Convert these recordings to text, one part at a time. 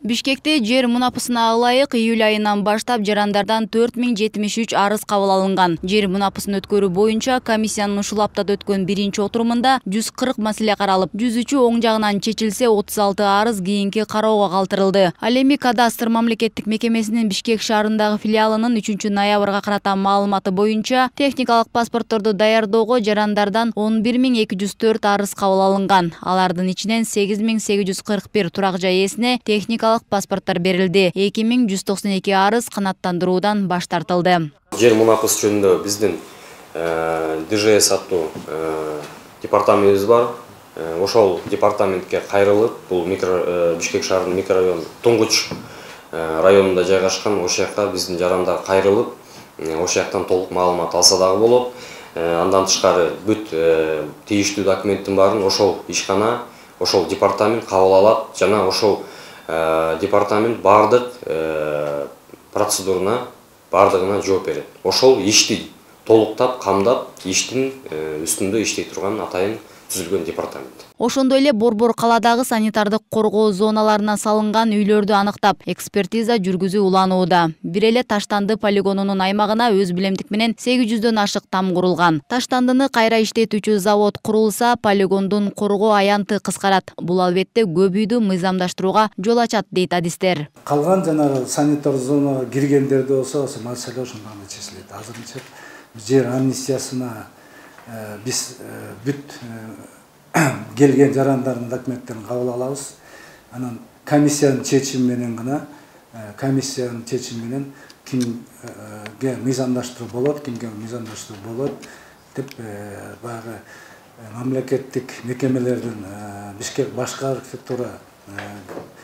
Бишкекте жер мунапысына ылайык июль айынан баштап жарандардан 4073 арыз кабыл алынган. Жер мунапысын өткөрүү боюнча комиссиянын ушул аптада өткөн биринчи отурумунда 140 маселе каралып, 103 оң жагынан чечилсе, 36 арыз кийинки кароого калтырылды. Ал эми кадастр мамлекеттик мекемесинин Бишкек шаарындагы филиалынын 3 ноябрга карата маалыматы боюнча техникалык паспортторду даярдоого жарандардан 11204 арыз кабыл алынган. Алардын ичинен 8841 турак жай ээсине техникалык паспорттор берилди. 2192 арыз канааттандыруудан баш тартылды. Жер мунапысы жөнүндө биздин ДЖС аттуу департаментибиз бар. Ошол департаментке кайрылып, бул Бишкек шаарынын микрорайону Туңгуч районунда жайгашкан, ошол жака биздин жарандар кайрылып, ошол жактан толук маалымат алса дагы болот. Андан тышкары бүт тийиштүү документтин баарын ошол ишкана, ошол департамент кабыл алат жана ошол департамент бардык бардыгына жооп берет. Ошол ишти толуктап, камдап, иштин үстүндө иштей турган атайын түзүлгөн департамент. Ошондой эле Борбор калаадагы санитардык коргоо зоналарына салынган үйлөрдү аныктап, экспертиза жүргүзүү уланууда. Бир эле Таштанды полигонунун аймагына өз билемдик менен 800дөн ашык там курулган. Таштандыны кайра иштетүүчү завод курулса, полигондун коргоо аянты кыскарат. Бул албетте көп үйдү мыйзамдаштырууга жол ачат, дейт адистер. Калган жанагы санитар зонага киргендерде болсо, маселе ошондой гана чечилет. Азырынча жер амнистиясына биз бүт келген жарандардын документтерин кабыл алабыз. Анан комиссиянын чечими менен кимге мыйзамдаштыруу болот, кимге мыйзамдаштыруу болот деп баягы мамлекеттик мекемелердин Бишкек башкы архитектура,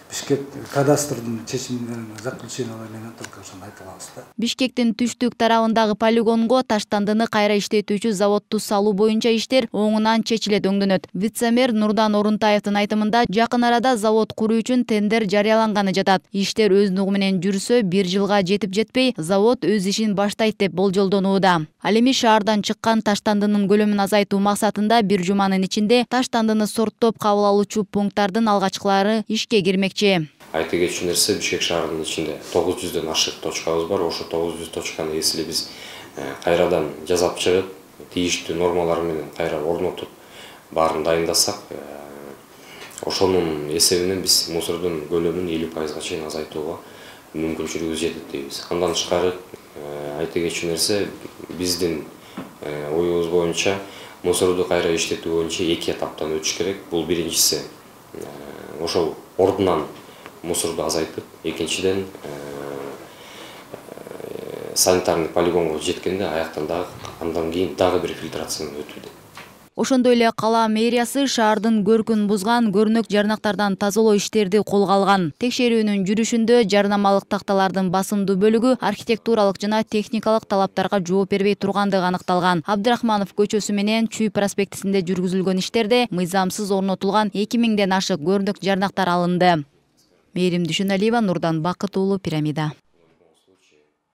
Бишкек кадастрдын чечимдерин заключениялар менен только ошону айта алабыз да. Бишкектин түштүк тарабындагы полигонго Таштандыны кайра иштетүүчү заводду салуу боюнча иштер оңунан чечилет өңдөнөт. Вице-мэр Нурдан Орунтаевдин айтымында, жакын арада завод куруу үчүн тендер жарыяланганы жатат. Иштер өз нугу менен жүрсө, 1 жылга жетип-жетпей завод өз ишин баштайт деп болжолдонууда. Ал эми шаардан чыккан Таштандынын көлөмүн азайтуу максатында бир жуманын ичинде Таштандыны сорттоп кабыл алуучу пункттардын алгачкылары ишке кирмекчи. Айта кетчү нерсе, Бишкек шаарынын ичинде 900дөн ашык точкабыз бар. Ошо 900 точканы эсили биз кайрадан жасап чыгып, тийиштүү нормалар менен кайра орнотуп, баарын дайындасак, ошонун эсебинен биз мусордун көлөмүн 50%га чейин азайтууга мүмкүнчүлүгүбүз жетет дейбиз. Андан тышкары айта кетчү нерсе, биздин оюбуз боюнча мусорду кайра иштетүү боюнча 2 этаптан өтүш керек. Бул биринчиси ошол ордунан мусорду азайтып, экинчиден санитарный полигонго жеткенде аяктан дагы андан кийин дагы бир фильтрациядан өтүүдө. Ошондой эле кала мэриясы шаардын көркүн бузган көрнөк жарнактардан тазалоо иштерди колго алган. Текшерүүнүн жүрүшүндө жарнамалык такталардын басымдуу бөлүгү архитектуралык жана техникалык талаптарга жооп бербей тургандыгы аныкталган. Абдрахманов көчөсү менен Чүй проспектисинде жүргүзүлгөн иштерде мыйзамсыз орнотулган 2000ден ашык көрнөк жарнактар алынды. Мээрим Дүйшөналиева, Нурдан Бакыт уулу, Пирамида.